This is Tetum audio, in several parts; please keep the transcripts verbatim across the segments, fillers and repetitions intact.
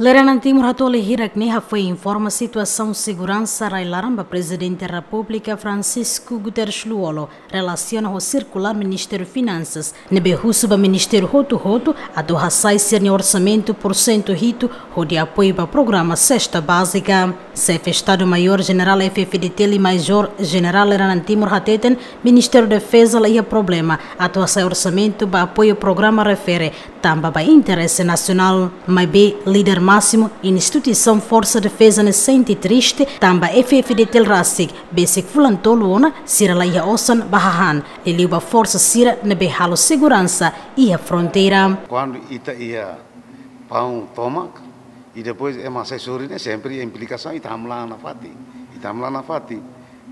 Leranan Timur hato'o hirak ne'e hafoin informa situasaun seguransa rai-laran ba Prezidente Repúblika Francisco Guterres Lú-Olo, relasiona ho sirkulár Ministériu Finansas ne'ebé husu ba ministériu hotu-hotu atu hasai sira-nia orsamentu porsentu hitu hodi apoiu ba programa sesta bázika. Xefe Estadu-Maiór Jenerál F-FDTL Majór Jenerál Leranan Timur hateten, Ministériu Defeza la iha problema atu hasai orsamentu ba apoiu programa refere, tanba ba interese nasionál. Maibé líder másimu instituisaun Forsa Defeza ne'e sente triste, tanba F-FDTL rasik besik fulan tolu ona sira la iha osan ba hahán, liuliu ba forsa sira ne'ebé halo seguransa iha fronteira. Kuandu ita iha paun tomak, i depois ema sai sorin ne'e, sempre iha implikasaun, ita hamlaha nafatin, ita hamlaha nafatin.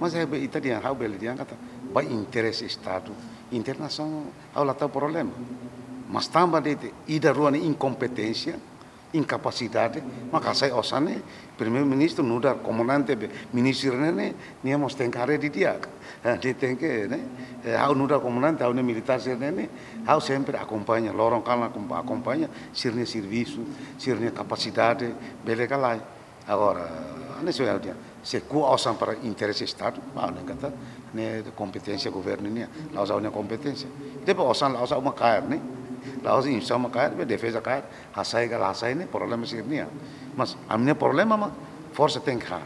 Mas é be ita dehan, ha'u bele dehan katak, ba interese Estadu, interese nasaun, ha'u la tau problema. Mas tanba de'it ida-rua nia inkompeténsia, inkapasidade, maka hasai osan ne'e, Primeiru-Ministru nu'udar komandante be, ministru ne'e, ne'e, nia mós tenke haree didi'ak. Eh, nia tenke, ne'e, eh, ha'u nu'udar komandante, ha'u-nia militár sira-ne'e, ne'e, ha'u sempre akompaña, loron-kalan akom-, akompaña, sira-nia servisu, sira-nia kapasidade, bele ka lae. Agora, ne'e só ha'u dehan, se ko'a osan para interese Estadu, ba ne'e katak, ne'e kompeténsia governu nian, la'ós ha'u-nia kompeténsia. Depois osan la'ós ha'u mak kaer, ne'e, la'ós instituisaun mak kaer, be defeza kaer, hasai ka la hasai ne'e problema sira-nian. Mas ami-nia problema mak forsa tenke han.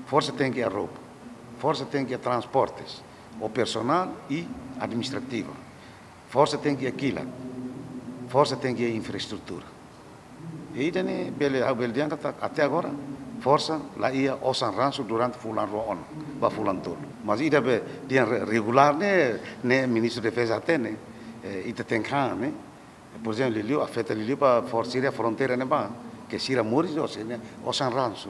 Forsa tenke iha roupa. Forsa tenke iha transportes, operasionál i administrativa. Forsa tenke iha kilat. Forsa tenke iha infraestrutura. I ida-ne'e bele, ha'u bele dehan katak até agora forsa la iha osan ransu durante fulan rua ona, ba fulan tolu. Mas ida be dehan re-, regulár ne'e, ne'e Ministru Defeza hatene, eh, ita tenke han, ne'e. Por ezemplu, liuliu, afeta liuliu ba forsa sira fronteira ne'ebá, ke sira moris ho sira-nia osan ransu.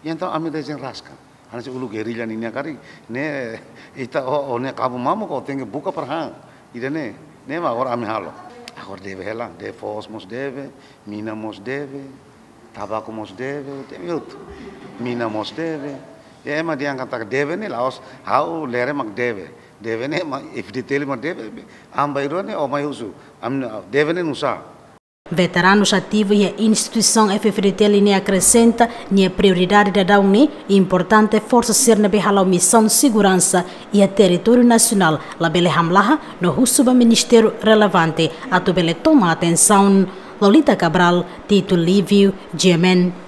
I entaun ami dezenraska. Hanesan uluk gerilla nian karik, ne'e, ita ó, ó-nia kabu mamuk ó tenke buka para han. Ida-ne'e, ne'e mak agora ami halo. Agora deve hela, deve foos mós deve, mina mós deve, tabaku mós deve, deve hotu. Mina mós deve. I ema dehan katak deve ne'e la'ós ha'u Lere mak deve. Deve ne'e mak F-FDTL mak deve, ami bainrua ne'e ó mai husu. Ami deve ne'e nusá? Veteranus ativu iha instituisaun F-FDTL ne'e akresenta, nia prioridade daudaun ne'e importante forsa sira ne'ebé hala'o misaun seguransa iha territóriu nasionál labele hamlaha no husu ba ministériu relevante atu bele toma atensaun. Lolita Cabral, Tito Lívio, G M N.